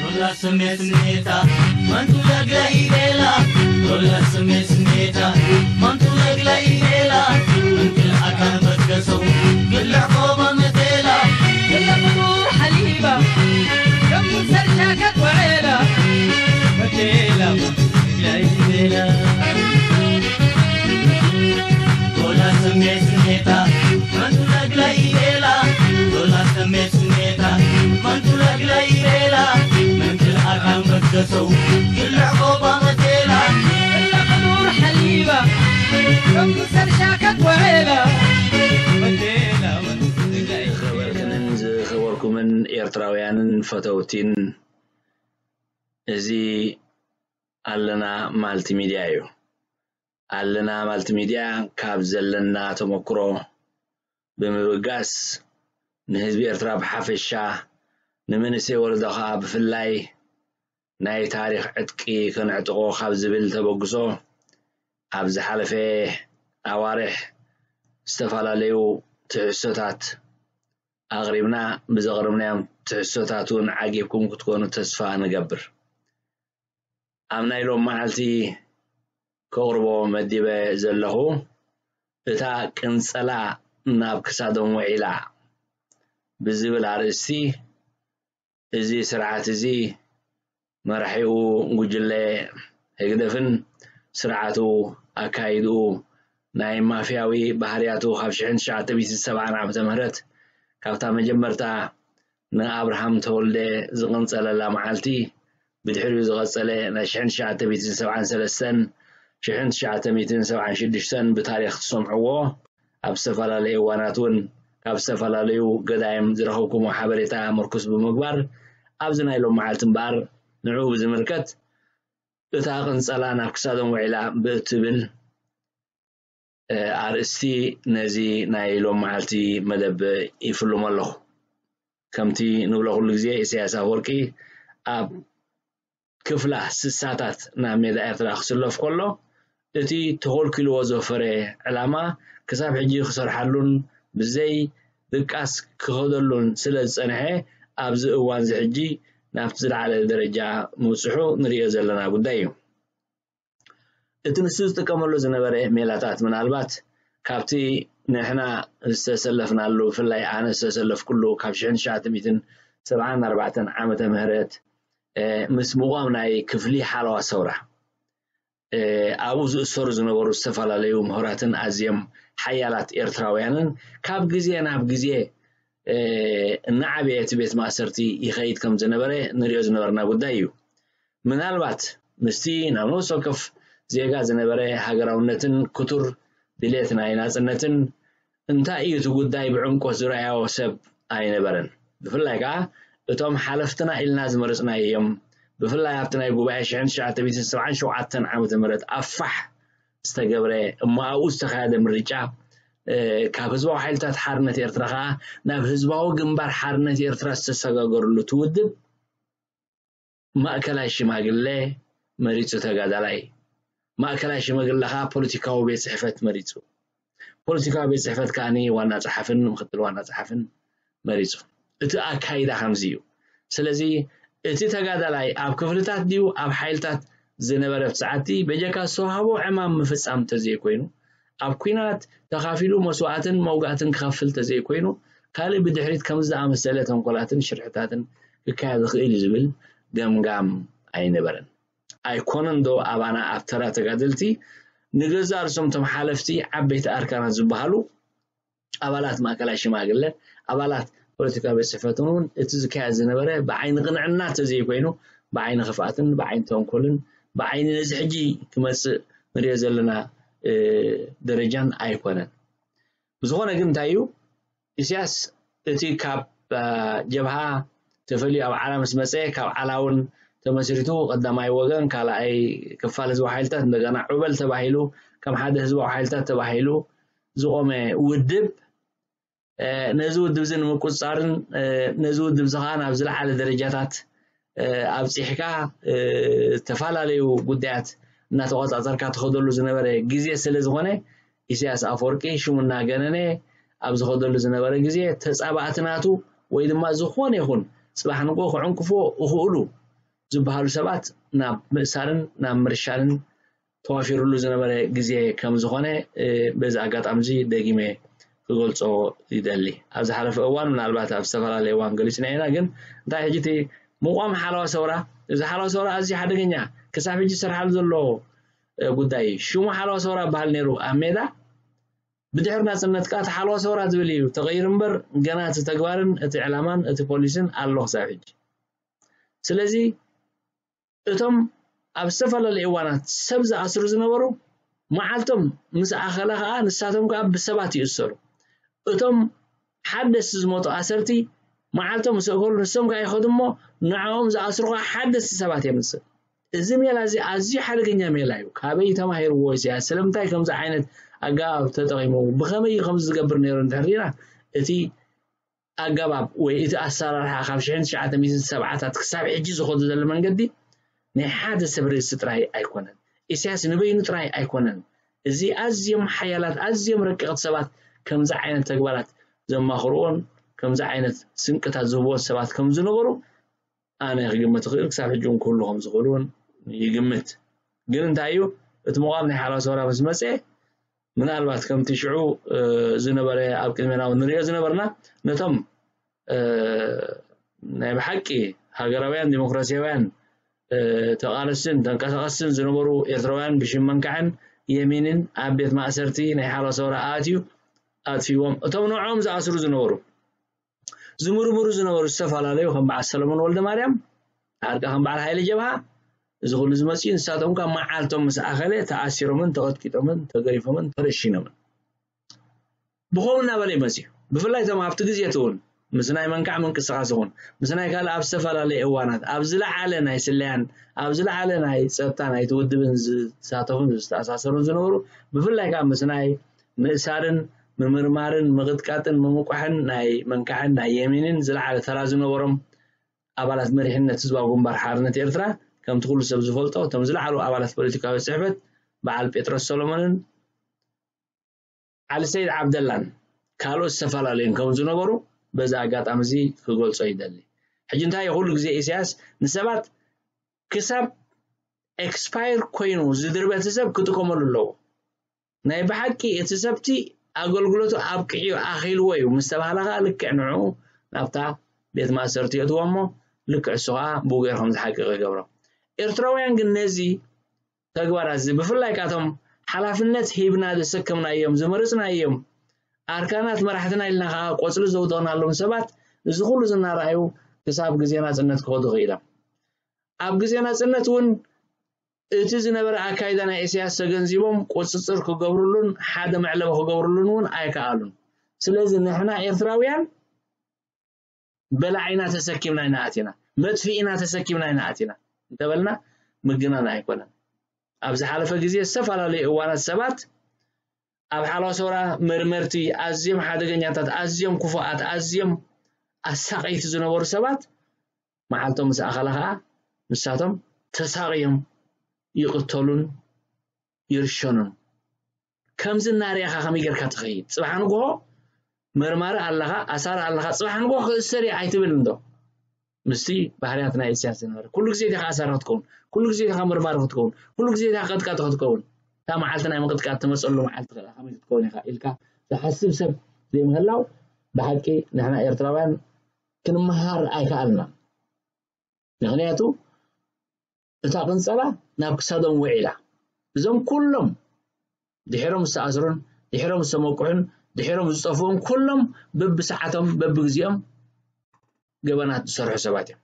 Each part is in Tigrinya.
ዶላ ስሜት ስሜታ መንቱ ለግለ ኢሌላ። ዶላ ስሜት ስሜታ መንቱ ለግለ ኢሌላ። እንክል ኣካን በትከሰው ግልዕ ቆባ መቴላ። ግለ ፍጡር ሓሊባ ከም ሰርሻ ከትወዕላ። መቴላ መንቱ ለግለ ኢሌላ። ዶላ ስሜት ስሜታ መንቱ ለግለ ኢሌላ። ዶላ ስሜት ስሜታ መንቱ ለግለ ኢሌላ። መንክል ኣካን በትከሰው ግልዕ ቆባ መቴላ። ግለ ፍጡር ሓሊባ ከም ሰርሻ ከትወዕላ። መቴላ መንቱ ለግለ ኢሌላ። ዝኸበርክንን ዝኸበርኩምን ኤርትራውያንን ፈተውቲን፣ እዚ ኣለና ማልቲ ሚድያ እዩ። ኣለና ማልቲ ሚድያ ካብ ዘለና ተመክሮ ብምብጋስ ንህዝቢ ኤርትራ ብሓፈሻ፣ ንመንእሰይ ወለዶ ኸኣ ብፍላይ ናይ ታሪኽ ዕጥቂ ከነዕጥቖ ካብ ዝብል ተበግሶ ኣብ ዝሓለፈ ኣዋርሕ ዝተፈላለዩ ትሕዝቶታት ኣቕሪብና፣ ብዘቕረብናዮም ትሕዝቶታት እውን ዓጊብኩም ክትኮኑ ተስፋ ንገብር። ኣብ ናይ ሎም መዓልቲ ከቕርቦ መዲበ ዘለኹ፣ እታ ቅንጸላ ናብ ክሳዶም ውዒላ ብዝብል ኣርእስቲ፣ እዚ ስርዓት እዚ መራሒኡ ጉጅለ ህግደፍን ስርዓቱ ኣካይድኡ ናይ ማፍያዊ ባህርያቱ ካብ ሽሕን ትሽዓተ ሚእትን ሰብዓን ዓመተ ምህረት ካብታ መጀመርታ ንኣብርሃም ተወልደ ዝቕንጸለላ መዓልቲ፣ ብድሕሪኡ ዝቐጸለ ናይ ሽሕን ትሽዓተ ሚእትን ሰብዓን ሰለስተን ሽሕን ትሽዓተ ሚእትን ሰብዓን ሽዱሽተን ብታሪኽ ትሰምዕዎ፣ ኣብ ዝተፈላለዩ እዋናት እውን ካብ ዝተፈላለዩ ገዳይም ዝረኸብኩሞ ሓበሬታ ምርኩስ ብምግባር፣ ኣብዚ ናይ ሎም መዓልቲ እምበኣር ንዕኡ ብዝምልከት፣ እታ ቅንጸላ ናብ ክሳዶም ውዒላ ብእትብል፣ እ፣ ኣርእስቲ ነዚ ናይ ሎም መዓልቲ መደብ ይፍልሞ ኣለኹ። ከምቲ ንብሎ ኩሉ ግዜ፣ ኢሳያስ ኣፈወርቂ ኣብ ክፍላ ስሳታት ናብ ሜዳ ኤርትራ ክስለፍ ከሎ፣ እቲ ተኾልኪልዎ ዝወፈረ ዕላማ ክሳብ ሕጂ ክሰርሓሉን ብዘይ ድቃስ ክኸደሉን ስለ ዝጸንሐ፣ ኣብዚ እዋንዚ ሕጂ ናብቲ ዝለዓለ ደረጃ ምብጽሑ ንርእዮ ዘለና ጉዳይ እዩ። እቲ ንሱ ዝጥቀመሉ ዝነበረ ሜላታት፣ ምናልባት ካብቲ ንሕና ዝተሰለፍናሉ፣ ብፍላይ ኣነ ዝተሰለፍኩሉ ካብ ሽሕን ትሽዓተ ሚእትን ሰብዓን ኣርባዕተን ዓመተ ምህረት፣ እ፣ ምስ ምቋም ናይ ክፍሊ ሓለዋ ሰውራ፣ እ፣ ኣብኡ ዝእሰሩ ዝነበሩ ዝተፈላለዩ ምሁራትን ኣዝዮም ሓያላት ኤርትራውያንን ካብ ግዜ ናብ ግዜ፣ እ፣ እናዓበየ እቲ ቤት ማእሰርቲ ይኸይድ ከም ዝነበረ ንሪኦ ዝነበርና ጉዳይ እዩ። ምናልባት ምስቲ ናብ ነፍሲ ወከፍ ዜጋ ዝነበረ ሃገራውነትን ክቱር ድሌት ናይ ናጽነትን እንታይ እዩ እቲ ጉዳይ ብዕምቆት ዝረኣዮ ሰብ ኣይነበረን። ብፍላይ ከኣ እቶም ሓለፍትና ኢልና ዝመረጽናዮም፣ ብፍላይ ኣብቲ ናይ ጉባኤ ሽሕን ትሽዓተ ሚእትን ሰብዓን ሸውዓተን ዓመተ ምህረት ኣብ ፋሕ ዝተገብረ እሞ ኣብኡ ዝተኻየደ ምርጫ፣ እ፣ ካብ ህዝባዊ ሓይልታት ሓርነት ኤርትራ ከኣ ናብ ህዝባዊ ግንባር ሓርነት ኤርትራ ዝተሰጋገርሉ እቲ ውድብ ማእከላይ ሽማግለ መሪጹ ተጋዳላይ፣ ማእከላይ ሽማግለ ከኣ ፖለቲካዊ ቤት ጽሕፈት መሪጹ። ፖለቲካዊ ቤት ጽሕፈት ከኣኒ ዋና ጸሓፍን ምክትል ዋና ጸሓፍን መሪጹ። እቲ ኣካይዳ ከምዚ እዩ። ስለዚ እቲ ተጋዳላይ ኣብ ክፍልታት ድዩ ኣብ ሓይልታት ዝነበረ ኣብቲ ሰዓትቲ በጀካ ዝተዋህቦ ዕማም ምፍጻም እንተዘይኮይኑ፣ ኣብ ኲናት ተኻፊሉ መስዋእትን መውጋእትን ክኸፍል እንተዘይኮይኑ፣ ካልእ ብድሕሪት ከምዚ ዝኣመሰለ ተንኮላትን ሽርሕታትን ክካየድ ይኽእል እዩ ዝብል ገምጋም ኣይነበረን። ኣይኮነን ዶ ኣባና ኣብ ተራ ተጋደልቲ ንገዛእ ርእሶም እቶም ሓለፍቲ ዓበይቲ ኣርካናት ዝበሃሉ ኣባላት ማእከላይ ሽማግለ፣ ኣባላት ፖለቲካዊ ቤት ጽሕፈትን እውን እቲ ዝካየድ ዝነበረ ብዓይኒ ቅንዕና እንተዘይኮይኑ፣ ብዓይኒ ክፍኣትን ብዓይኒ ተንኮልን ብዓይኒ ነዚ ሕጂ ክመጽእ ንሪኦ ዘለና፣ እ፣ ደረጃን ኣይኮነን። ብዝኾነ ግን እንታይ እዩ፣ ኢሳያስ እቲ ካብ፣ እ፣ ጀብሃ ተፈልዩ ኣብ ዓላ ምስ መጸ፣ ካብ ዓላ እውን ተመስሪቱ ቀዳማይ ወገን፣ ካልኣይ ክፋል ህዝባዊ ሓይልታት፣ እንደገና ዑበል ተባሂሉ ከም ሓደ ህዝባዊ ሓይልታት ተባሂሉ ዝቖመ ውድብ ነዚ ውድብ እዚ ንምቁፅፃርን ነዚ ውድብ እዚ ከዓ ናብ ዝለዓለ ደረጃታት ኣብፂሕካ ዝተፈላለዩ ጉዳያት እናተቆፃፀርካ ትኸደሉ ዝነበረ ግዜ ስለ ዝኾነ ኢሳያስ ኣፈወርቂ ሽሙ እናገነነ ኣብ ዝኸደሉ ዝነበረ ግዜ ተፃባእቲ ናቱ ወይ ድማ ዝኾነ ይኹን ፅባሕ ንግሆ ክዕንቅፎ ይኽእሉ ዝበሃሉ ሰባት ናብ ምእሳርን ናብ ምርሻንን ተዋፊሩሉ ዝነበረ ግዜ ከም ዝኾነ በዚ ኣጋጣሚ እዚ ደጊመ ክገልፆ ይደሊ። ኣብ ዝሓለፈ እዋን ምናልባት ኣብ ዝተፈላለየ እዋን ገሊፅና ኢና፣ ግን እንታይ ሕጂ እቲ ምቋም ሓለዋ ሰውራ እዚ ሓለዋ ሰውራ ኣዝዩ ሓደገኛ ክሳብ ሕጂ ዝሰርሓሉ ዘሎ ጉዳይ እዩ። ሽሙ ሓለዋ ሰውራ በሃል ነይሩ ኣብ ሜዳ ብድሕሪ ናፅነት ከዓ እቲ ሓለዋ ሰውራ ዝብል እዩ ተቐይሩ እምበር ገና እቲ ተግባርን እቲ ዕላማን እቲ ፖሊስን ኣሎ ክሳብ ሕጂ። ስለዚ እቶም ኣብ ዝተፈላለዩ እዋናት ሰብ ዝኣስሩ ዝነበሩ መዓልቶም ምስ ኣኸለ ከዓ ንሳቶም ከዓ ብሰባት ይእሰሩ። እቶም ሓደስቲ ዝመጡ ኣሰርቲ መዓልቶም ምስ ኣኸሉ ንሶም ከዓ ይኸዱ እሞ ንዕኦም ዝኣስሩ ከዓ ሓደስቲ ሰባት እዮም። እዚ ሜላ እዚ ኣዝዩ ሓደገኛ ሜላ እዩ። ካበይ ተማሂርዎ ኢሳያስ? ስለምንታይ ከምዚ ዓይነት ኣገባብ ተጠቒሙ? ብኸመይ እዩ ከምዚ ዝገብር ነይሩ እንድሕር ሪኢና እቲ ኣገባብ ወይ እቲ ኣሰራርሓ ካብ ሽሕን ትሽዓተ ሚእትን ሰብዓታት ክሳብ ሕጂ ዝኸዱ ዘሎ መንገዲ ናይ ሓደ ሰብ ርእሲ ጥራይ ኣይኮነን። ኢሳያስ ንበይኑ ጥራይ ኣይኮነን። እዚ ኣዝዮም ሓያላት ኣዝዮም ረቀቕቲ ሰባት ከምዚ ዓይነት ተግባራት ዘማኽርዎን ከምዚ ዓይነት ስንቅታት ዝህብዎን ሰባት ከም ዝነበሩ ኣነ ክግምት እኽእል። ክሳብ ሕጂ እውን ክህሉ ከም ዝኽእሉ እውን ይግምት። ግን እንታይ እዩ እቲ ምቋም ናይ ሓራ ሰውራ ምስ መፀ ምናልባት ከምቲ ሽዑ ዝነበረ ኣብ ቅድሜና እውን ንሪኦ ዝነበርና ነቶም ናይ ብሓቂ ሃገራውያን ዲሞክራሲያውያን ተቓለስትን ተንቀሳቐስትን ዝነበሩ ኤርትራውያን ብሽም መንካዕን የሚንን ኣብ ቤት ማእሰርቲ ናይ ሓራ ሰውራ ኣትዩ ኣጥፊዎም። እቶም ንዕኦም ዝኣስሩ ዝነበሩ ዝምርምሩ ዝነበሩ ዝተፈላለዩ ከም በዓል ሰለሞን ወልደ ማርያም ዓርቃ ከም በዓል ሃይለ ጀብሃ እዚ ኩሉ ዝመፅኡ ንሳቶም ካብ መዓልቶም ምስ ኣኸለ ተኣሲሮምን ተቐጥቂጦምን ተገሪፎምን ተረሺኖምን ብኸም እናበለ ይመፅኡ። ብፍላይ እቶም ኣብቲ ግዜ እቲ እውን ምስ ናይ መንካዕ ምንቅስቃስ ይኹን ምስ ናይ ካልእ ኣብ ዝተፈላለየ እዋናት ኣብ ዝለዓለ ናይ ስለያን ኣብ ዝለዓለ ናይ ፀጥታ ናይቲ ውድብን ዝሳተፉን ዝተኣሳሰሩን ዝነበሩ ብፍላይ ከዓ ምስ ናይ ምእሳርን ምምርማርን ምቕጥቃጥን ምምቋሕን ናይ መንካዕን ናይ የሚንን ዝለዓለ ተራ ዝነበሮም ኣባላት መሪሕነት ህዝባዊ ግንባር ሓርነት ኤርትራ ከምቲ ኩሉ ሰብ ዝፈልጦ እቶም ዝለዓሉ ኣባላት ፖለቲካዊ ጽሕፈት በዓል ጴጥሮስ ሰሎሞንን ዓሊ ሰይድ ዓብደላን ካልኦት ዝተፈላለዩን ከም ዝነበሩ በዚ ኣጋጣሚ እዚ ክገልጾ ይደሊ። ሕጂ እንታይ ኩሉ ግዜ ኢሳያስ ንሰባት ክሳብ ኤክስፓየር ኮይኑ ዝድርበ እቲ ሰብ ክጥቀመሉ ኣለዎ። ናይ ብሓቂ እቲ ሰብቲ ኣገልግሎቱ ኣብቂዑ ኣኺልዎ እዩ ምስ ተባህለ ከዓ ልክዕ ንዕኡ ናብታ ቤት ማእሰርቲ የእትዎ እሞ ልክዕ እሱ ከዓ ብኡ ገይሩ ከም ዝሓቅቕ ይገብሮ። ኤርትራውያን ግን ነዚ ተግባራት እዚ ብፍላይ ካቶም ሓላፍነት ሂብና ዘሰከምናዮም ዝመረፅናዮም ኣርካናት መራሕትና ኢልና ከዓ ቆፅሊ ዘውደቕናሎም ሰባት እዚ ኩሉ ዝናረኣዩ ክሳብ ግዜ ናፅነት ክኸዱ ክኢሎም። ኣብ ግዜ ናፅነት እውን እቲ ዝነበረ ኣካይዳ ናይ ኢሳያስ ተገንዚቦም ቁፅፅር ክገብርሉን ሓደ መዕለቢ ክገብርሉን እውን ኣይከኣሉን። ስለዚ ንሕና ኤርትራውያን በላዒና ተሰኪምና ኢና ኣቲና፣ መጥፍኢና ተሰኪምና ኢና ኣቲና እንተበልና ምግናን ኣይኮነን። ኣብ ዝሓለፈ ግዜ ዝተፈላለዩ እዋናት ሰባት ኣብ ሓለዋ ሰውራ መርመርቲ ኣዝዮም ሓደገኛታት፣ ኣዝዮም ክፉኣት፣ ኣዝዮም ኣሳቀይቲ ዝነበሩ ሰባት መዓልቶም ምስ ኣኸለ ከዓ ንሳቶም ተሳቕዮም ይቕተሉን ይርሸኑን። ከምዚ እናርኣኻ ከመይ ጌርካ ትኸይድ? ጽባሕ ንግሆ መርማሪ ኣለኻ፣ ኣሳሪ ኣለኻ፣ ጽባሕ ንግሆ ክእሰር እየ ኣይትብል እንዶ? ምስቲ ባህርያት ናይ ኢሳያስ ዝነበረ ኩሉ ግዜ ዲኻ ኣሳሪ ክትከውን፣ ኩሉ ግዜ ዲኻ መርማሪ ክትከውን፣ ኩሉ ግዜ ዲኻ ቀጥቃጢ ክትከውን። እታ መዓልቲ ናይ ምቕጥቃጥ ትመፀሉ መዓልቲ ከኣ ከመይ ክትከውን ኢኻ ኢልካ ዝሓስብ ሰብ ዘይምህላው ብሓቂ ንሕና ኤርትራውያን ክንመሃር ኣይከኣልናን። ምኽንያቱ እታ ቅንጸላ ናብ ክሳዶም ውዒላ። እዞም ኩሎም ድሒሮም ዝተኣስሩን ድሒሮም ዝተመቁሑን ድሒሮም ዝጠፍኡን ኩሎም በብሰዓቶም በብግዜኦም ገበናት ዝሰርሑ ሰባት እዮም።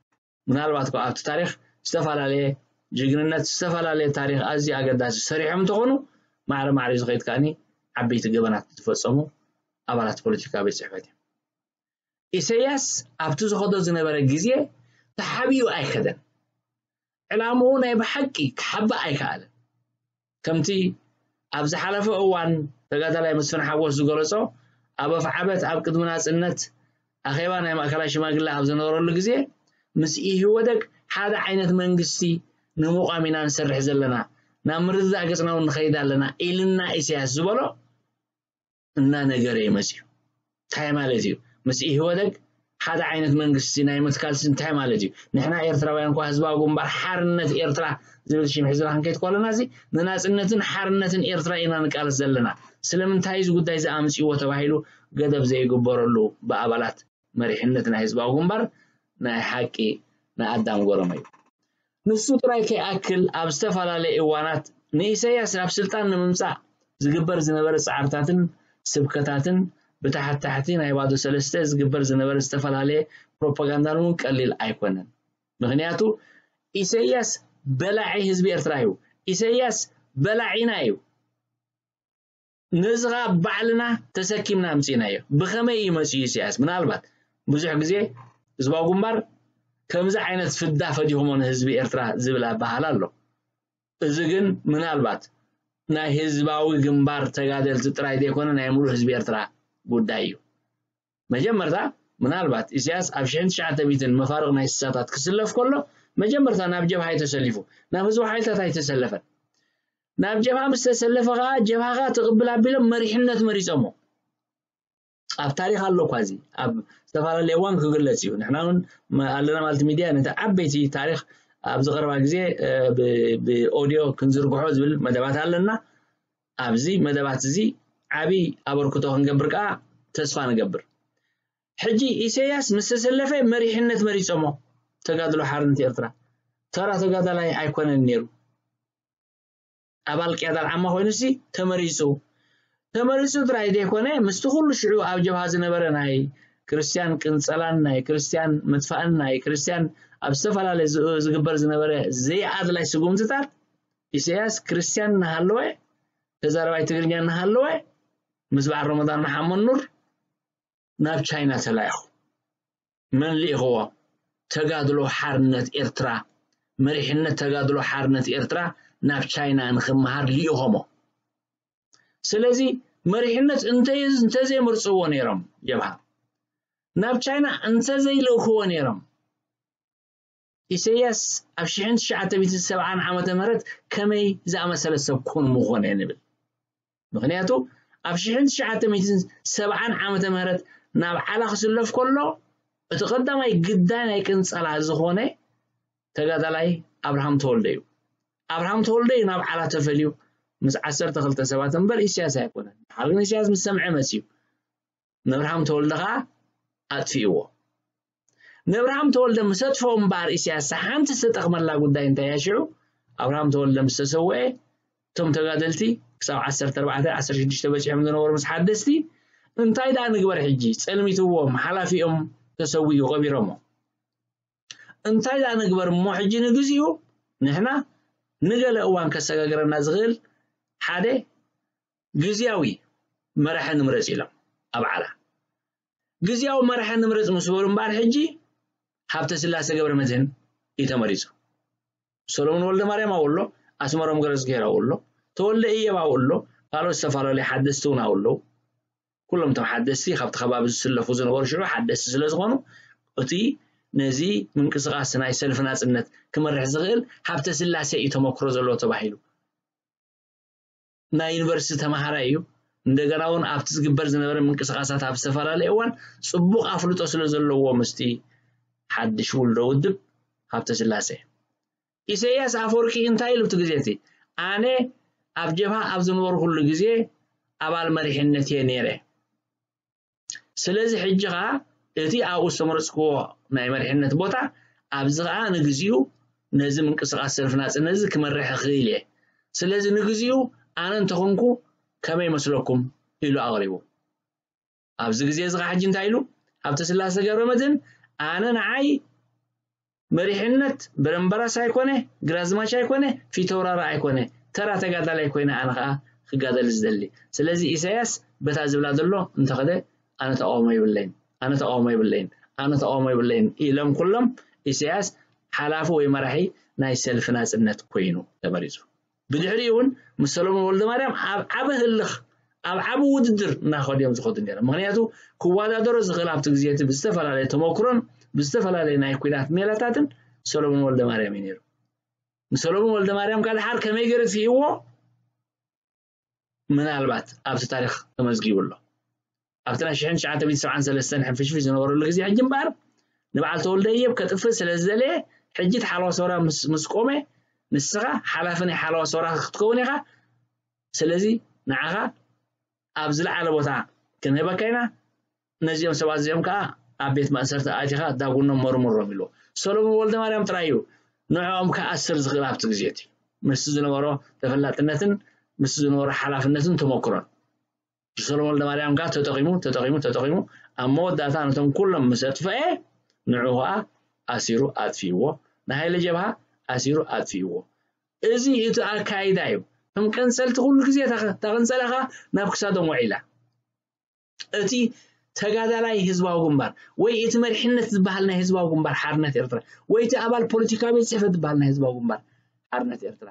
ምናልባት ከ ኣብቲ ታሪኽ ዝተፈላለየ ጅግንነት ዝተፈላለየ ታሪኽ ኣዝዩ ኣገዳሲ ሰሪሖም እንተኾኑ ማዕረ ማዕረ ዝኸይድ ከኣኒ ዓበይቲ ገበናት ዝፈጸሙ ኣባላት ፖለቲካ ቤት ጽሕፈት እዮም። ኢሰያስ ኣብቲ ዝኸዶ ዝነበረ ግዜ ተሓቢኡ ኣይከደን። ዕላምኡ ናይ ብሓቂ ክሓብእ ኣይከኣለን። ከምቲ ኣብ ዝሓለፈ እዋን ተጋዳላይ መስፍን ሓጎስ ዝገለጾ ኣብ ኣፍዓበት ኣብ ቅድሚ ናጽነት ኣኼባ ናይ ማእከላይ ሽማግለ ኣብ ዝነበረሉ ግዜ ምስ ኢህወደግ ሓደ ዓይነት መንግስቲ ንምቋም ኢና ንሰርሕ ዘለና፣ ናብ ምርድዳእ ገጽና እውን ንኸይድ ኣለና ኢልና ኢሳያስ ዝበሎ እናነገረ እዩ መጺኡ። እንታይ ማለት እዩ? ምስ ኢህወደግ ሓደ ዓይነት መንግስቲ ናይ ምትካል እንታይ ማለት እዩ? ንሕና ኤርትራውያን እኳ ህዝባዊ ግንባር ሓርነት ኤርትራ ዝብል ሽም ሒዝና ክንከይድ ከለና እዚ ንናጽነትን ሓርነትን ኤርትራ ኢና ንቃለስ ዘለና። ስለምንታይ እዚ ጉዳይ እዚ ኣምጺእዎ ተባሂሉ ገደብ ዘይግበረሉ ብኣባላት መሪሕነት ናይ ህዝባዊ ግንባር ናይ ሓቂ ንኣዳም ጎረመ እዩ። ንሱ ጥራይ ከይኣክል ኣብ ዝተፈላለየ እዋናት ንኢሰያስ ናብ ስልጣን ንምምጻእ ዝግበር ዝነበረ ጻዕርታትን ስብከታትን ብታሕታሕቲ ናይ ባዶ ሰለስተ ዝግበር ዝነበረ ዝተፈላለየ ፕሮፓጋንዳን እውን ቀሊል ኣይኮነን። ምኽንያቱ ኢሰያስ በላዒ ህዝቢ ኤርትራ እዩ። ኢሰያስ በላዒና እዩ። ነዚ ኸኣ ባዕልና ተሰኪምና ኣምጺእናዮ። ብኸመይ እዩ መጺኡ ኢሳያስ? ምናልባት ብዙሕ ግዜ ህዝባዊ ግንባር ከምዚ ዓይነት ፍዳ ፈዲኹሞ ንህዝቢ ኤርትራ ዝብል ኣበሃህላ ኣሎ። እዚ ግን ምናልባት ናይ ህዝባዊ ግንባር ተጋደልቲ ጥራይ ዘይኮነ ናይ ሙሉእ ህዝቢ ኤርትራ ጉዳይ እዩ። መጀመርታ ምናልባት ኢሳያስ ኣብ ሽሕን ትሽዓተ ሚእትን መፋርቕ ናይ ስሳታት ክስለፍ ከሎ መጀመርታ ናብ ጀብሃ እዩ ተሰሊፉ፣ ናብ ህዝባዊ ሓይልታት ኣይተሰለፈን። ናብ ጀብሃ ምስ ተሰለፈ ኸዓ ጀብሃ ኸዓ ትቕብል ኣቢሎም መሪሕነት መሪጾሞ። ኣብ ታሪኽ ኣሎ እኳ እዚ ኣብ ዝተፈላለየ እዋን ክግለጽ እዩ። ንሕና እውን መ- ኣለና ማለት ሚድያ ነቲ ዓበይቲ ታሪኽ ኣብዚ ቀረባ ግዜ እ፣ ብ- ብኦድዮ ክንዝርግሖ ዝብል መደባት ኣለና። ኣብዚ መደባት እዚ ዓቢ ኣበርክቶ ክንገብር ከዓ ተስፋ ንገብር። ሕጂ ኢሳያስ ምስ ተሰለፈ መሪሕነት መሪጾሞ ተጋድሎ ሓርነት ኤርትራ ተራ ተጋዳላይ ኣይኮነን ነይሩ። ኣባል ቅያዳ ዓማ ኮይኑ ሲ ተመሪጹ ተመሪጹ ጥራይ ዘይኮነ ምስቲ ኩሉ ሽዑ ኣብ ጀብሃ ዝነበረ ናይ ክርስትያን ቅንጸላን ናይ ክርስትያን ምጥፋእን ናይ ክርስትያን ኣብ ዝተፈላለየ ዝ- ዝግበር ዝነበረ ዘይኣድላይ ስጉምትታት ኢሳያስ ክርስትያን እናሃለወ ተዛረባይ ትግርኛ እናሃለወ ምስ በዓል ረመዳን መሓመድ ኑር ናብ ቻይና ተላኢኹ። መን ልኢኽዎ? ተጋድሎ ሓርነት ኤርትራ፣ መሪሕነት ተጋድሎ ሓርነት ኤርትራ ናብ ቻይና ንኽመሃር ልኢኾሞ። ስለዚ መሪሕነት እንተ- እንተዘይመርጽዎ ነይሮም ጀብሃ ናብ ቻይና እንተዘይልእኽዎ ነይሮም ኢሰያስ ኣብ ሽሕን ትሽዓተ ሚእትን ሰብዓን ዓመተ ምህረት ከመይ ዝኣመሰለ ሰብ ኮን ምኾነ ንብል። ምኽንያቱ ኣብ ሽሕን ትሽዓተ ሚእትን ሰብዓን ዓመተ ምህረት ናብ ዓላ ክስለፍ ከሎ እቲ ቀዳማይ ግዳይ ናይ ቅንጸላ ዝኾነ ተጋዳላይ ኣብርሃም ተወልደ እዩ። ኣብርሃም ተወልደ እዩ ናብ ዓላ ተፈልዩ ምስ ዓሰርተ ክልተ ሰባት እምበር ኢሳያስ ኣይኮነን። ድሓር ግን ኢሳያስ ምስ ሰምዐ መጽዩ ንኣብርሃም ተወልደ ኸዓ ኣጥፊእዎ። ንኣብርሃም ተወልደ ምስ ኣጥፍኦ እምበኣር ኢሳያስ ሓንቲ ዝተጠቕመላ ጉዳይ እንታይ እያ ሽዑ? ኣብርሃም ተወልደ ምስ ተሰውአ እቶም ተጋደልቲ ክሳብ ዓሰርተ ኣርባዕተ ዓሰርተ ሽዱሽተ በጺሖም ዝነበሩ ምስ ሓደስቲ እንታይ ደኣ ንግበር ሕጂ? ጸልሚትዎም ሓላፊኦም ተሰዊኡ ቀቢሮሞ። እንታይ ደኣ ንግበር እሞ ሕጂ ንግዚኡ ንሕና ንገለ እዋን ከሰጋግረና ዝኽእል ሓደ ግዝያዊ መራሒ ንምረጽ ኢሎም ኣብ ዓላ ግዝያዊ መራሒ ንምረጽ ምስ በሉ እምበኣር ሕጂ ሃብተ ስላሴ ገብረ መድህን እዩ ተመሪጹ። ሰሎሞን ወልደ ማርያም ኣብኡ ኣሎ፣ ኣስመሮም ገረዝግሄር ኣብኡ ኣሎ፣ ተወልደ እየብ ኣብኡ ኣሎ፣ ካልኦት ዝተፈላለዩ ሓደስቲ እውን ኣብኡ ኣለዉ። ኩሎም እቶም ሓደስቲ ካብቲ ከባቢ ዝስለፉ ዝነበሩ ሽዑ ሓደስቲ ስለ ዝኾኑ እቲ ነዚ ምንቅስቃስ ናይ ሰልፊ ናጽነት ክመርሕ ዝኽእል ሃብተ ስላሴ እዩ ተመክሮ ዘለዎ ተባሂሉ። ናይ ዩኒቨርሲቲ ተምሃራይ እዩ። እንደገና እውን ኣብቲ ዝግበር ዝነበረ ምንቅስቃሳት ኣብ ዝተፈላለየ እዋን ጽቡቕ ኣፍልጦ ስለ ዘለዎ ምስቲ ሓድሽ ውልዶ ውድብ ሃብተ ስላሴ ኢሳያስ ኣፈወርቂ እንታይ ኢሉ እቲ ግዜ እቲ ኣነ ኣብ ጀብሃ ኣብ ዝነበርኩሉ ግዜ ኣባል መሪሕነት እየ ነይረ። ስለዚ ሕጂ ኸዓ እቲ ኣብኡ ዝተመረጽክዎ ናይ መሪሕነት ቦታ ኣብዚ ኸዓ ንግዚኡ ነዚ ምንቅስቃስ ሰልፊ ናጽነት እዚ ክመርሕ እኽእል እየ። ስለዚ ንግዚኡ ኣነ እንተኾንኩ ከመይ ይመስለኩም ኢሉ ኣቕሪቡ። ኣብዚ ግዜ እዚ ኸዓ ሕጂ እንታይ ኢሉ? ሃብተ ስላሴ ገብረ መድህን ኣነ ንዓይ መሪሕነት በረምበራስ ኣይኮነ፣ ግራዝማች ኣይኮነ፣ ፊተውራሪ ኣይኮነ፣ ተራ ተጋዳላይ ኮይነ ኣነ ኸዓ ክጋደል ዝደሊ። ስለዚ ኢሳያስ በታ ዝብላ ዘሎ እንተኸደ ኣነ ተቃውሞ የብለይን፣ ኣነ ተቃውሞ የብለይን፣ ኣነ ተቃውሞ የብለይን ኢሎም ኩሎም ኢሳያስ ሓላፊ ወይ መራሒ ናይ ሰልፊ ናጽነት ኮይኑ ተመሪጹ። ብድሕሪኡ እውን ምስ ሰሎሞን ወልደ ማርያም ኣብ ዓቢ ህልኽ ኣብ ዓቢ ውድድር እናኸዱ እዮም ዝኸዱ ነይሮም። ምኽንያቱ ክወዳደሮ ዝኽእል ኣብቲ ግዜ እቲ ብዝተፈላለየ ተመክሮን ብዝተፈላለየ ናይ ኲናት ሜላታትን ሰሎሞን ወልደማርያም እዩ ነይሩ። ንሰሎሞን ወልደማርያም ካልሓር ከመይ ገይሩ ትርእይዎ? ምናልባት ኣብቲ ታሪኽ ተመዝጊቡ ኣሎ። ኣብቲ ናይ ሽሕን ትሽዓተ ሚእትን ሰብዓን ሰለስተን ሕንፍሽፍሽ ዝነበረሉ ግዜ ሕጂ እምበኣር ንበዓል ተወልደ እየብ ከጥፍእ ስለ ዝደለየ ሕጂ እቲ ሓለዋ ሰውራ ምስ ምስ ቆመ ንስኻ ሓላፊ ናይ ሓለዋ ሰውራ ክትከውን ኢኻ። ስለዚ ንዓኻ ኣብ ዝለዓለ ቦታ ክንህበካ ኢና። ነዚኦም ሰባት እዚኦም ከዓ ኣብ ቤት ማእሰርቲ ኣእቲኻ ዳጉኖም መርምሮም ኢልዎ። ሰሎሞን ወልደማርያም ጥራይ እዩ ንዕኦም ክኣስር ዝኽእል ኣብቲ ግዜ እቲ ምስቲ ዝነበሮ ተፈላጥነትን ምስቲ ዝነበሮ ሓላፍነትን ተመክሮን። ሰሎሞን ወልደማርያም ከዓ ተጠቒሙ ተጠቒሙ ተጠቒሙ ኣብ መወዳእታ ነቶም ኩሎም ምስ ኣጥፈኤ ንዑ ከዓ ኣሲሩ ኣጥፊእዎ። ንሃይለ ጀብሃ ኣሲሩ ኣጥፊእዎ። እዚ እቲ ኣካይዳ እዩ። ከም ቀንፀልቲ ኩሉ ግዜ ተቐንፀለኻ ናብ ክሳዶም ውዒላ። እቲ ተጋዳላይ ህዝባዊ ግንባር ወይ እቲ መሪሕነት ዝበሃል ናይ ህዝባዊ ግንባር ሓርነት ኤርትራ ወይ እቲ ኣባል ፖለቲካዊ ቤት ፅሕፈት ዝበሃል ናይ ህዝባዊ ግንባር ሓርነት ኤርትራ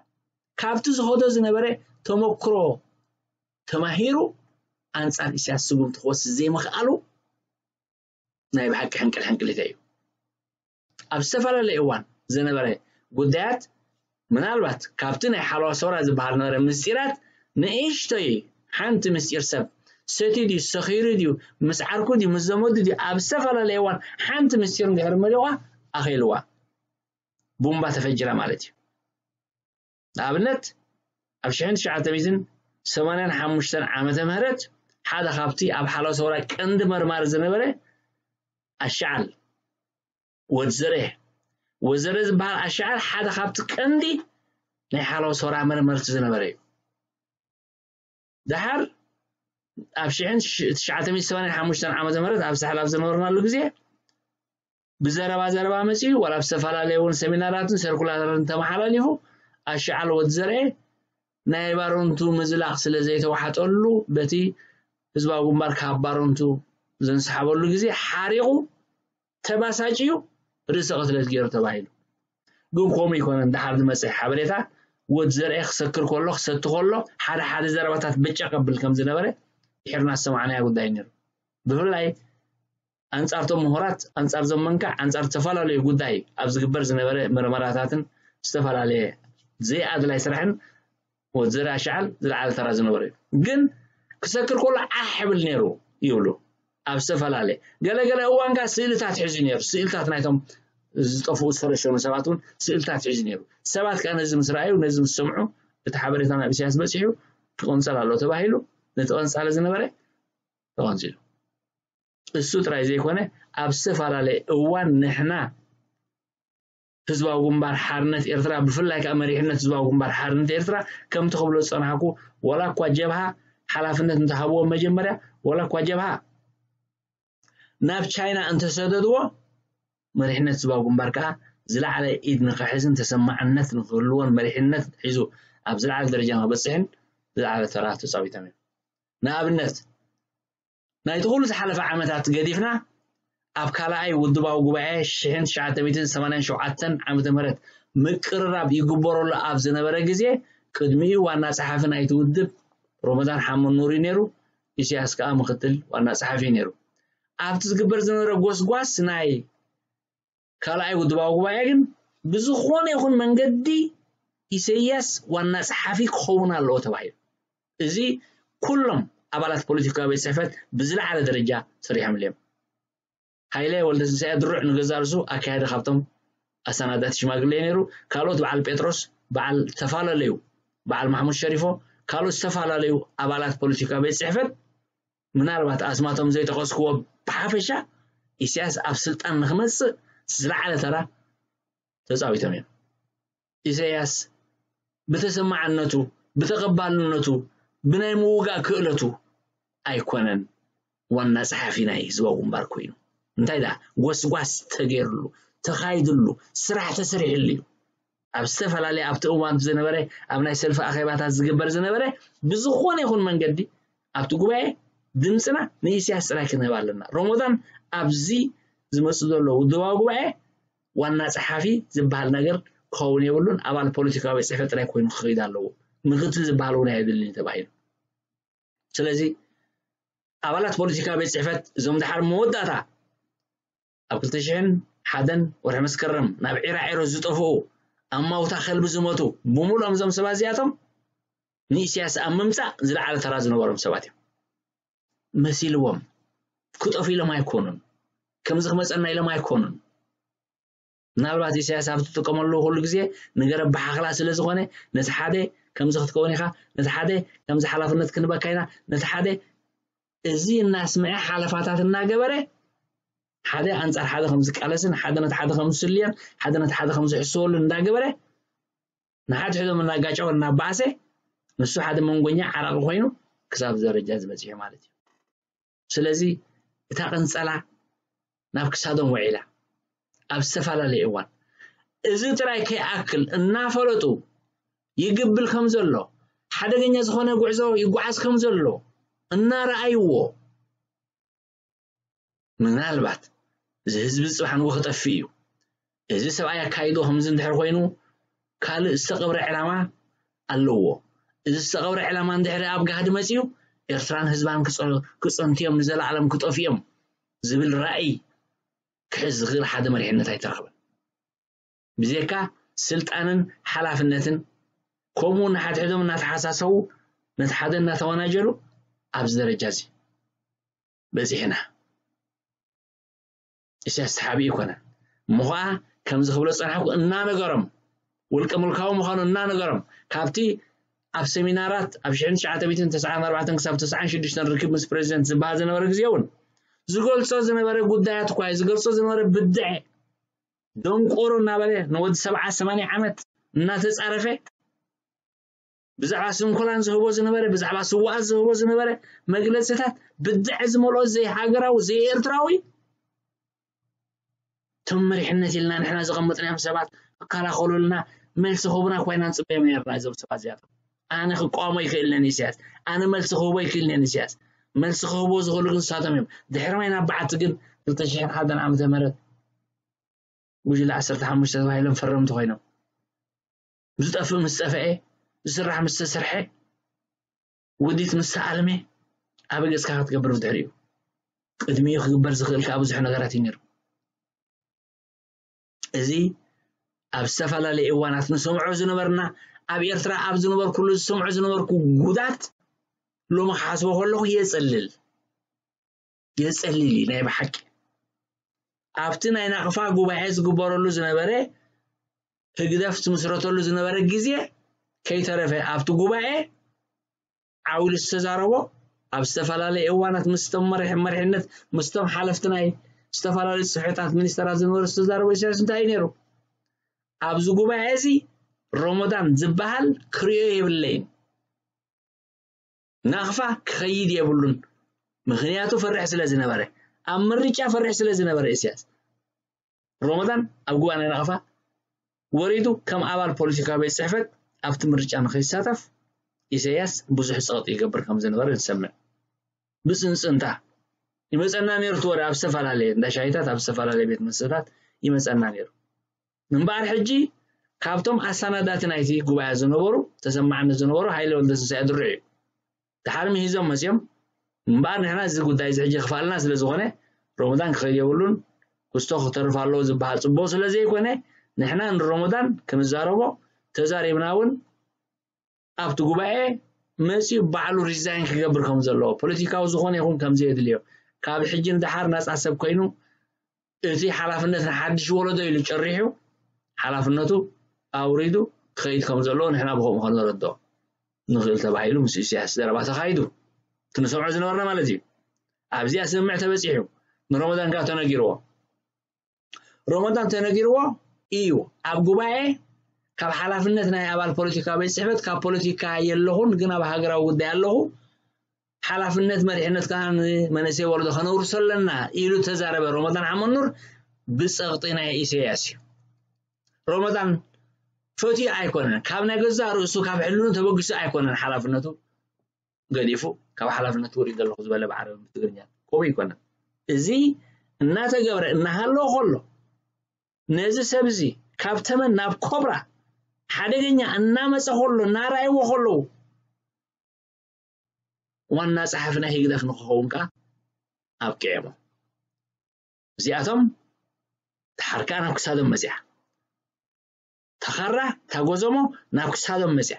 ካብቲ ዝኸዶ ዝነበረ ተመክሮ ተማሂሩ ኣንጻር ኢሳያስ ስጉምቲ ክወስድ ዘይምኽኣሉ ናይ ብሓቂ ሕንቅል ሕንቅሊተ እዩ። ኣብ ዝተፈላለየ እዋን ዝነበረ ጉዳያት ምናልባት ካብቲ ናይ ሓለዋ ሰውራ ዝበሃል ነበረ ምስጢራት ንእሽቶይ ሓንቲ ምስጢር ሰብ ሰትዩ ድዩ ሰኺሩ ድዩ ምስ ዓርኩ ድዩ ምስ ዘመዱ ድዩ ኣብ ዝተፈላለየ እዋን ሓንቲ ምስጢር እንድሕር መሊቋ ኣኸይልዋ ቡምባ ተፈጅራ ማለት እዩ። ንኣብነት ኣብ ሽሕን ትሽዓተ ሚእትን ሰማንያን ሓሙሽተን ዓመተ ምህረት ሓደ ካብቲ ኣብ ሓለዋ ሰውራ ቀንዲ መርማሪ ዝነበረ ኣሻዓል ወድ ዘርኤ ወድ ዘርኤ ዝበሃል ኣሻዓል ሓደ ካብቲ ቀንዲ ናይ ሓለዋ ሰውራ መርመርቲ ዝነበረ እዩ። ደሓር ኣብ ሽሕን ትሽዓተ ሚእትን ሰማንያን ሓሙሽተን ዓመተ ምህረት ኣብ ሳሕል ኣብ ዝነበርናሉ ግዜ ብዘረባ ዘረባ መጺኡ ዋላ ኣብ ዝተፈላለየ እውን ሰሚናራትን ሰርኩላርን ተመሓላሊፉ ኣሻዓል ወድ ዘርኤ ናይ ባረንቱ ምዝላቕ ስለ ዘይተዋሓጠሉ በቲ ህዝባዊ ግንባር ካብ ባረንቱ ዘንስሓበሉ ግዜ ሓሪቑ ተባሳጭዩ ርእሰ ቅትለት ገይሩ ተባሂሉ። ግን ከምኡ ይኮነን። ደሓር ዝመፅእ ሓበሬታ ወድ ዘርኤ ክሰክር ከሎ ክሰቲ ከሎ ሓደ ሓደ ዘረባታት ብጫ ቀብል ከም ዝነበረ ድሕርና ዝሰማዕናዮ ጉዳይ ነይሩ። ብፍላይ ኣንጻርቶም ምሁራት ኣንጻር ዞም መንካዕ ኣንጻር ዝተፈላለዩ ጉዳይ ኣብ ዝግበር ዝነበረ መርመራታትን ዝተፈላለየ ዘይኣድላይ ስራሕን ወድ ዘርኣ ሻዓል ዝለዓለ ተራ ዝነበረ እዩ። ግን ክሰክር ከሎ ዓሕ ይብል ነይሩ ይብሉ ኣብ ዝተፈላለየ ገለገለ እዋን ከኣ ስእልታት ሒዙ ነይሩ። ስእልታት ናይቶም ዝጠፍኡ ዝተረሸኑ ሰባት እውን ስእልታት ሒዙ ነይሩ። ሰባት ከኣ ነዚ ምስ ረኣዩ ነዚ ምስ ሰምዑ እቲ ሓበሬታ ናብ ኢሳያስ በፂሑ ክቕንፀል ኣሎ ተባሂሉ ነቲ ቀንፃሊ ዝነበረ ተቐንፂሉ። እሱ ጥራይ ዘይኮነ ኣብ ዝተፈላለየ እዋን ንሕና ህዝባዊ ግንባር ሓርነት ኤርትራ ብፍላይ ከዓ መሪሕነት ህዝባዊ ግንባር ሓርነት ኤርትራ ከምቲ ክብሎ ዝፀናሕኩ ዋላ እኳ ጀብሃ ሓላፍነት እንተሃብዎም መጀመርያ ዋላ እኳ ጀብሃ ናብ ቻይና እንተሰደድዎ መሪሕነት ህዝባዊ ግንባር ከዓ ዝለዓለ ኢድ ንክሕዝን ተሰማዕነት ንክህልዎን መሪሕነት ሒዙ ኣብ ዝለዓለ ደረጃ ንክበፅሕን ዝለዓለ ተራ ተፃዊቶም እዮም። ንኣብነት ናይቲ ኩሉ ዝሓለፈ ዓመታት ገዲፍና ኣብ ካልኣይ ውድባዊ ጉባኤ ሽሕን ትሽዓተ ሚእትን ሰማንያን ሸውዓተን ዓመተ ምህረት ምቅርራብ ይግበረሉ ኣብ ዝነበረ ግዜ ቅድሚኡ ዋና ጸሓፊ ናይቲ ውድብ ሮመዳን ሓመድ ኑር እዩ ነይሩ። ኢሳያስ ከኣ ምክትል ዋና ጸሓፊ እዩ ነይሩ። ኣብቲ ዝግበር ዝነበረ ጎስጓስ ናይ ካልኣይ ውድባዊ ጉባኤ ግን ብዝኾነ ይኹን መንገዲ ኢሳያስ ዋና ጸሓፊ ክኸውን ኣለዎ ተባሂሉ። እዚ ኩሎም ኣባላት ፖለቲካዊ ቤት ጽሕፈት ብዝለዓለ ደረጃ ሰሪሖምሉ እዮም። ሃይለ ወልደትንሳኤ ድሩዕ ንገዛእ ርእሱ ኣካያዲ ካብቶም ኣሰናዳእቲ ሽማግሌ ነይሩ። ካልኦት በዓል ጴጥሮስ፣ በዓል ተፈላለዩ በዓል ማሕሙድ ሸሪፎ፣ ካልኦት ዝተፈላለዩ ኣባላት ፖለቲካዊ ቤት ጽሕፈት ምናልባት ኣስማቶም ዘይጠቐስክዎ ብሓፈሻ ኢሳያስ ኣብ ስልጣን ንክመጽእ ዝለዓለ ተራ ተጻዊቶም እዮም። ኢሳያስ ብተሰማዕነቱ፣ ብተቐባልነቱ፣ ብናይ ምውጋእ ክእለቱ ኣይኮነን ዋና ጸሓፊ ናይ ህዝባዊ ግንባር ኮይኑ። እንታይ ደኣ ጎስጓስ ተገይርሉ፣ ተኻይድሉ፣ ስራሕ ተሰሪሕሉ እዩ። ኣብ ዝተፈላለየ ኣብቲ እዋን ዝነበረ ኣብ ናይ ሰልፊ ኣኼባታት ዝግበር ዝነበረ ብዝኾነ ይኹን መንገዲ ኣብቲ ጉባኤ ድምፅና ንኢሳያስ ጥራይ ክንህብ ኣለና። ሮሞዳን ኣብዚ ዝመፅእ ዘሎ ውድባዊ ጉባኤ ዋና ጸሓፊ ዝበሃል ነገር ክኸውን የብሉን። ኣባል ፖለቲካዊ ቤት ጽሕፈት ጥራይ ኮይኑ ክኸይድ ኣለዎ። ምክትል ዝበሃል እውን ኣየድልን እዩ ተባሂሉ። ስለዚ ኣባላት ፖለቲካ ቤት ፅሕፈት እዞም ድሓር መወዳእታ ኣብ ክልተ ሽሕን ሓደን ወርሒ መስከረም ናብ ዒራዒሮ ዝጠፍኡ፣ ኣብ ማውታ ከልቢ ዝሞቱ ብምሉኦም እዞም ሰባት እዚኣቶም ንኢሳያስ ኣብ ምምፃእ ዝለዓለ ተራ ዝነበሮም ሰባት እዮም። መሲልዎም ክጠፉ ኢሎም ኣይኮኑን። ከምዚ ክመፀና ኢሎም ኣይኮኑን። ምናልባት ኢሳያስ ኣብ ትጥቀመሉ ኩሉ ግዜ ነገር ኣበሓኽላ ስለ ዝኾነ ነቲ ሓደ ከምዚ ክትከውን ኢኻ፣ ነቲ ሓደ ከምዚ ሓላፍነት ክንበካ ኢና፣ ነቲ ሓደ እዚ እናስምዐ ሓለፋታት እናገበረ ሓደ ኣንጻር ሓደ ከም ዝቃለስን ሓደ ነቲ ሓደ ከም ዝስልዮን ሓደ ነቲ ሓደ ከም ዝሕስወሉ እንዳገበረ ንሓድሕዶም እናጋጨወ እናበኣሰ ንሱ ሓደ መንጎኛ ዓራቂ ኮይኑ ክሳብ ደረጃ ዝበፅሑ ማለት እዩ። ስለዚ እታ ቅንጸላ ናብ ክሳዶም ውዒላ ኣብ ዝተፈላለየ እዋን እዚ ጥራይ ከይኣክል እናፈለጡ ይግብል ከም ዘሎ ሓደገኛ ዝኾነ ጉዕዞ ይጓዓዝ ከም ዘሎ እናረኣይዎ ምናልባት እዚ ህዝቢ ጽባሕ ንግሆ ክጠፍእ እዩ። እዚ ሰብኣይ ኣካይዶ ከምዚ እንድሕር ኮይኑ ካልእ ዝተቐብረ ዕላማ ኣለዎ። እዚ ዝተቐብረ ዕላማ እንድሕር ኣብ ጋህዲ መጺኡ ኤርትራን ህዝባን ክጸ- ክጸንቱ እዮም ንዘለኣለም ክጠፍኡ እዮም ዝብል ራእይ ክሕዝ ዝኽእል ሓደ መሪሕነት ኣይተረኽበን። ብዘይካ ስልጣንን ሓላፍነትን ከምኡ ንሓድሕዶም እናተሓሳሰቡ ነቲ ሓደ እናተወናጀሉ ኣብዚ ደረጃ እዚ በፂሕና። ኢሳያስ ተሓቢኡ ኣይኮነን እሞ ኸዓ ከምዚ ክብሎ ዝፀናሕኩ እናነገሮም ውልቀ ምልካዊ ምዃኑ እናነገሮም ካብቲ ኣብ ሰሚናራት ኣብ ሽሕን ትሽዓተ ሚእትን ተስዓን ኣርባዕተን ክሳብ ተስዓን ሽዱሽተን ርክብ ምስ ፕሬዚደንት ዝበሃል ዝነበረ ግዜ እውን ዝገልፆ ዝነበረ ጉዳያት እኳ እዩ ዝገልፆ ዝነበረ ብድዐ ደንቆሮ እናበለ ንወዲ ሰብዓ ሰማንያ ዓመት እናተፃረፈ ብዛዕባ ስንኮላን ዝህቦ ዝነበረ ብዛዕባ ስዋኣት ዝህቦ ዝነበረ መግለፅታት ብድዐ ዝመልኦ ዘይሃገራዊ ዘይኤርትራዊ እቶም መሪሕነት ኢልና ንሕና ዘቐመጥናዮም ሰባት ክከላኸሉልና መልሲ ክህቡና ኮይና ንፅበዮም ነርና እዞም ሰባት እዚኣቶም ኣነ ክቃወሞ ይክእልነን ኢሳያስ ኣነ መልሲ ክህቦ ይክእልነን ኢሳያስ መልሲ ክህቦ ዝኽእሉ ግን ንሳቶም እዮም ድሕሪ ማይ ናብ በዓቲ ግን ክልተ ሽሕን ሓደን ዓመተ ምህረት ጉጅለ ዓሰርተ ሓሙሽተ ተባሂሎም ፈረምቲ ኮይኖም ዝጠፍእ ምስ ጠፍአ ዝስራሕ ምስ ተሰርሐ ውዲት ምስ ተኣልመ ኣበ ገፅካ ክትገብር ብድሕሪኡ ቅድሚኡ ክግበር ዝኽእል ከዓ ብዙሕ ነገራት እዩ ነይሩ እዚ ኣብ ዝተፈላለየ እዋናት ንሰምዖ ዝነበርና ኣብ ኤርትራ ኣብ ዝነበርኩሉ ዝሰምዖ ዝነበርኩ ጉዳት ሎሚ ክሓስቦ ከለኹ የፅልል የፀልል እዩ ናይ ብሓቂ ኣብቲ ናይ ናቕፋ ጉባኤ ዝግበረሉ ዝነበረ ህግደፍ ዝምስረተሉ ዝነበረ ግዜ ከይተረፈ ኣብቲ ጉባኤ ዓው ኢሉ ዝተዛረቦ ኣብ ዝተፈላለየ እዋናት ምስቶም መሪሕነት ምስቶም ሓለፍቲ ናይ ዝተፈላለዩ ፅፍሕታት ሚኒስተራት ዝነበሩ ዝተዛረቦ ኢሳያስ እንታይ እዩ ነይሩ ኣብዚ ጉባኤ እዚ ሮሞዳን ዝበሃል ክሪኦ የብለይን ናቕፋ ክኸይድ የብሉን ምኽንያቱ ፈርሕ ስለ ዝነበረ ኣብ ምርጫ ፈርሕ ስለ ዝነበረ ኢሳያስ ሮሞዳን ኣብ ጉባኤ ናይ ናቕፋ ወሪዱ ከም ኣባል ፖለቲካዊ ቤት ፅሕፈት ኣብቲ ምርጫ ንኸይሳተፍ ኢሳያስ ብዙሕ ፀቕጢ ይገብር ከም ዝነበረ ንሰምዕ ብፅንፅንታ ይመፀና ነይሩ እቲ ወረ ኣብ ዝተፈላለየ እንዳ ሻሂታት ኣብ ዝተፈላለየ ቤት መስተታት ይመፀና ነይሩ እምበኣር ሕጂ ካብቶም ኣሳናዳቲ ናይቲ ጉባኤ ዝነበሩ ተሰማዕነት ዝነበሩ ሃይለ ወልደትንሳኤ ድሩዕ እዩ። ደሓር ምሂዞም መፅዮም እምበኣር ንሕና እዚ ጉዳይ እዚ ሕጂ ክፋልና ስለ ዝኾነ ሮሞዳን ክኸይድ የብሉን ክስቶ ክተርፍ ኣለዎ ዝበሃል ፅቡቕ ስለ ዘይኮነ ንሕና ንሮሞዳን ክንዛረቦ ተዛሪብና እውን ኣብቲ ጉባኤ መፂኡ ባዕሉ ሪዛይን ክገብር ከም ዘለዎ ፖለቲካዊ ዝኾነ ይኹን ከም ዘየድልዮ ካብ ሕጂ ንደሓር ናፃ ሰብ ኮይኑ እቲ ሓላፍነት ንሓድሽ ወለዶ ኢሉ ጨሪሑ ሓላፍነቱ ኣውሪዱ ክኸይድ ከም ዘለዎ ንሕና ብኸምኡ ከነረድኦ ንኽእል ተባሂሉ ምስ ኢሳያስ ዘረባ ተኻይዱ እቲ ንሰምዖ ዝነበርና ማለት እዩ ኣብዚኣ ስምምዕ ተበፂሑ ንሮመዳን ከዓ ተነጊርዎ ሮመዳን ተነጊርዎ እዩ ኣብ ጉባኤ ካብ ሓላፍነት ናይ ኣባል ፖለቲካ ቤት ፅሕፈት ካብ ፖለቲካ የለኹን ግን ኣብ ሃገራዊ ጉዳይ ኣለኹ ሓላፍነት መሪሕነት ከዓ ንመንእሰይ ወለዶ ከነውርሶ ኣለና ኢሉ ተዛረበ ሮመዳን ዓመኑር ብፀቕጢ ናይ ኢሳያስ እዩ ሮመዳን ፈትዩ ኣይኮነን ካብ ናይ ገዛእ ርእሱ ካብ ሕልኑ ተበጊሱ ኣይኮነን ሓላፍነቱ ገዲፉ ካብ ሓላፍነቱ ውሪድ ዘለኹ ዝበለ ብዓረብን ብትግርኛ ከምኡ ኣይኮነን እዚ እናተገብረ እናሃለወ ከሎ ነዚ ሰብ እዚ ካብ ተመን ናብ ኮብራ ሓደገኛ እናመፀ ከሎ እናረኣይዎ ከለዉ ዋና ጸሓፊ ናይ ህግደፍ ንክኸውን ከኣ ኣብቂዐሞ። እዚኣቶም ተሓርካ ናብ ክሳዶም መጽያ፣ ተኻራ ታጎዘሞ ናብ ክሳዶም መጽያ።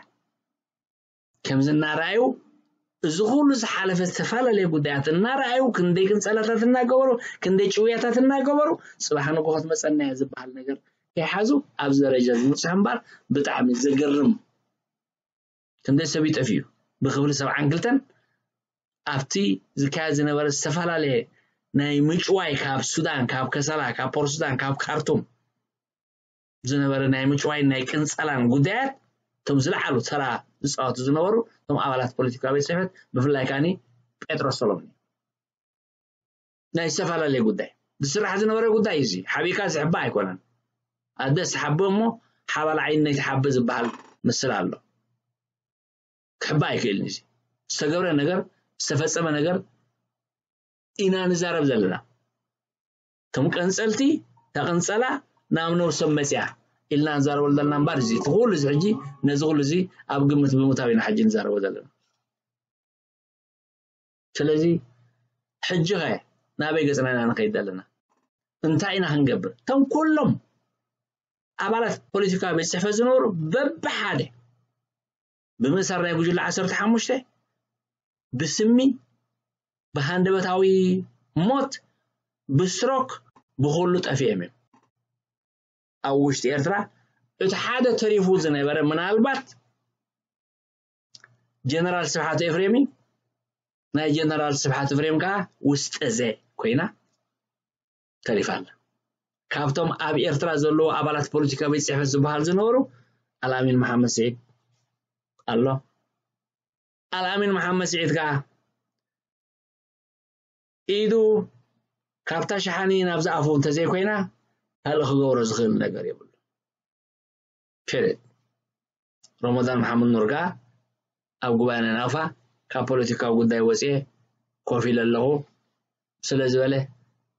ከምዚ እናረኣዩ፣ እዚ ኩሉ ዝሓለፈ ዝተፈላለየ ጉዳያት እናረኣዩ፣ ክንደይ ቅንጸላታት እናገበሩ፣ ክንደይ ጭውያታት እናገበሩ፣ ጽባሕ ንግሆ ትመጸና እያ ዝበሃል ነገር ከይሓዙ ኣብዚ ደረጃ ዝበጽሑ እምበር፣ ብጣዕሚ ዘገርም። ክንደይ ሰብ ይጠፍዩ። ብክፍሊ ሰብዓን ክልተን ኣብቲ ዝካየድ ዝነበረ ዝተፈላለየ ናይ ምጭዋይ፣ ካብ ሱዳን፣ ካብ ከሰላ፣ ካብ ፖርት ሱዳን፣ ካብ ካርቱም ዝነበረ ናይ ምጭዋይ ናይ ቅንጸላን ጉዳያት፣ እቶም ዝለዓሉ ተራ ዝጻወቱ ዝነበሩ እቶም ኣባላት ፖለቲካዊ ቤት ጽሕፈት፣ ብፍላይ ከኣኒ ጴጥሮስ ሰሎሞን እዩ። ናይ ዝተፈላለየ ጉዳይ ዝስራሕ ዝነበረ ጉዳይ እዚ ሓቢእካ ዝሕባእ ኣይኮነን። ኣደ ዝተሓበ እሞ ሓባል ዓይኒ ናይ ተሓበ ዝበሃል ምስል ኣሎ። ክሕባእ ኣይክእልን። እዚ ዝተገብረ ነገር፣ ዝተፈጸመ ነገር ኢና ንዛረብ ዘለና። እቶም ቀንጸልቲ፣ እታ ቅንጸላ ናብ ነብሶም መጽያ ኢልና ንዛረበሉ ዘለና እምበር፣ እዚ እቲ ኩሉ እዚ ሕጂ፣ ነዚ ኩሉ እዚ ኣብ ግምት ብምእታው ኢና ሕጂ ንዛረቦ ዘለና። ስለዚ ሕጂ ኸ ናበይ ገጽና ኢና ንኸይድ ዘለና? እንታይ ኢና ክንገብር? እቶም ኩሎም ኣባላት ፖለቲካዊ ቤት ጽሕፈት ዝነበሩ በብሓደ ብምእሳር ናይ ጉጅለ ዓሰርተ ሓሙሽተ፣ ብስሚ፣ ብሃንደበታዊ ሞት፣ ብስትሮክ፣ ብኹሉ ጠፊኦም እዮም። ኣብ ውሽጢ ኤርትራ እቲ ሓደ ተሪፉ ዝነበረ ምናልባት ጀነራል ስብሓት ኤፍሬም እዩ። ናይ ጀነራል ስብሓት ኤፍሬም ከኣ ውስጠ ዘ ኮይና ተሪፋ ኣላ። ካብቶም ኣብ ኤርትራ ዘለዉ ኣባላት ፖለቲካዊ ቤት ጽሕፈት ዝበሃል ዝነበሩ ኣልኣሚን መሓመድ ስዒድ ኣሎ። ኣልኣሚን መሓመድ ስዒድ ከኣ ኢዱ ካብታ ሸሓኒ ናብዚ ኣፉ እንተዘይኮይና ካልእ ክገብሮ ዝኽእል ነገር የብሉ። ፔሬድ። ረመዳን መሓመድ ኑር ከኣ ኣብ ጉባኤ ናይ ናቕፋ ካብ ፖለቲካዊ ጉዳይ ወፅየ ኮፍ ኢለ ኣለኹ ስለ ዝበለ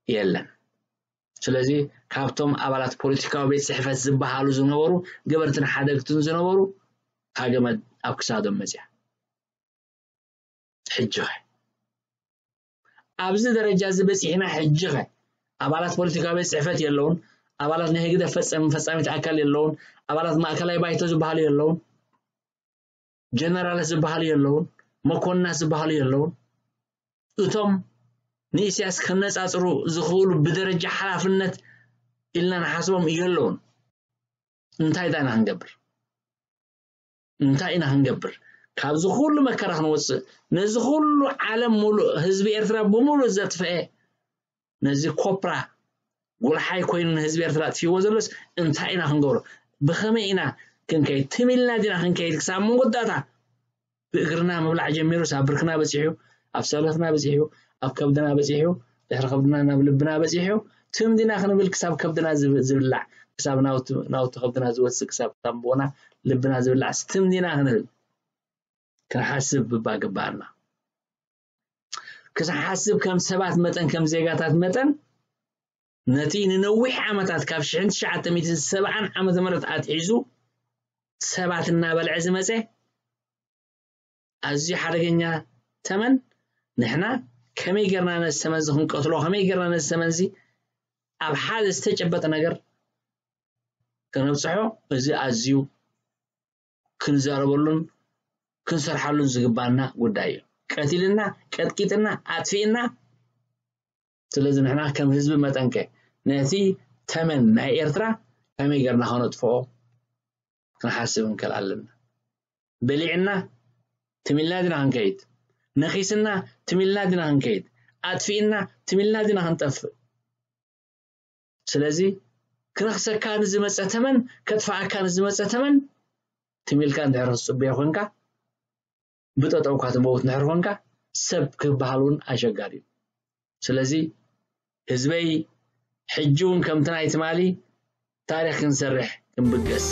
የለን። ስለዚ ካብቶም ኣባላት ፖለቲካዊ ቤት ፅሕፈት ዝበሃሉ ዝነበሩ ገበርትን ሓደግትን ዝነበሩ ሃገመድ ኣብ ክሳዶም መፅያ። ሕጂ ኸ ኣብዚ ደረጃ እዚ በፂሕና? ሕጂ ኸ ኣባላት ፖለቲካዊ ቤት ፅሕፈት የለውን፣ ኣባላት ናይ ህግደፍ ፈፀም ፈፃሚት ኣካል የለውን፣ ኣባላት ማእከላይ ባይቶ ዝበሃሉ የለውን፣ ጀነራላት ዝበሃሉ የለውን፣ መኮንናት ዝበሃሉ የለውን። እቶም ንኢሳያስ ከነፃፅሩ ዝኽእሉ ብደረጃ ሓላፍነት ኢልና ንሓስቦም የለውን። እንታይ ዳና ክንገብር? እንታይ ኢና ክንገብር? ካብዚ ኩሉ መከራ ክንወፅእ፣ ነዚ ኩሉ ዓለም ሙሉእ፣ ህዝቢ ኤርትራ ብምሉእ ዘጥፈኤ፣ ነዚ ኮፕራ ጉልሓይ ኮይኑ ንህዝቢ ኤርትራ ኣጥፊዎ ዘሎስ እንታይ ኢና ክንገብሮ? ብኸመይ ኢና ክንከይድ? ትም ኢልና ዲና ክንከይድ ክሳብ መወዳእታ? ብእግርና ምብላዕ ጀሚሩስ ኣብ ብርክና በጺሑ፣ ኣብ ሰለትና በጺሑ፣ ኣብ ከብድና በጺሑ፣ ድሕሪ ከብድና ናብ ልብና በጺሑ። ትም ዲና ክንብል ክሳብ ከብድና ዝብ-፣ ዝብላዕ፣ ክሳብ ናውቲ፣ ናውቲ ከብድና ዝወጽእ፣ ክሳብ ሳምቦና ልብና ዝብላዕ ትም ዲና ክንብል ክንሓስብ እባ ግባኣና። ክንሓስብ ከም ሰባት መጠን፣ ከም ዜጋታት መጠን፣ ነቲ ንነዊሕ ዓመታት ካብ ሽሕን ትሽዓተ ሚእትን ሰብዓን ዓመተ ምህረት ኣትሒዙ ሰባት እናበልዐ ዝመጸ ኣዝዩ ሓደገኛ ተመን፣ ንሕና ከመይ ጌርና ነዚ ተመን እዚ ክንቀትሎ፣ ከመይ ጌርና ነዚ ተመን እዚ ኣብ ሓደ ዝተጨበጠ ነገር ከነብጽሖ፣ እዚ ኣዝዩ ክንዛረበሉን ክንሰርሓሉን ዝግባና ጉዳይ እዩ። ቀቲልና፣ ቀጥቂጥና፣ ኣጥፊእና። ስለዚ ንሕና ከም ህዝቢ መጠንከ ነቲ ተመን ናይ ኤርትራ ከመይ ጌርና ከነጥፍኦ ክንሓስብ እንክእል ኣለና። በሊዕና ትም ኢልና ዲና ክንከይድ? ነኺስና ትም ኢልና ዲና ክንከይድ? ኣጥፊእና ትም ኢልና ዲና ክንጠፍእ? ስለዚ ክነኽሰካ ንዝመጸ ተመን፣ ከጥፍኣካ ንዝመጸ ተመን ትም ኢልካ እንድሕር ክትጽበዮ ኮንካ፣ ብጠጠውካ ትመውት እንድሕር ኮንካ፣ ሰብ ክበሃል እውን ኣሸጋሪ እዩ። ስለዚ ህዝበይ፣ ሕጂ እውን ከምቲ ናይ ትማሊ ታሪኽ ክንሰርሕ ክንብገስ።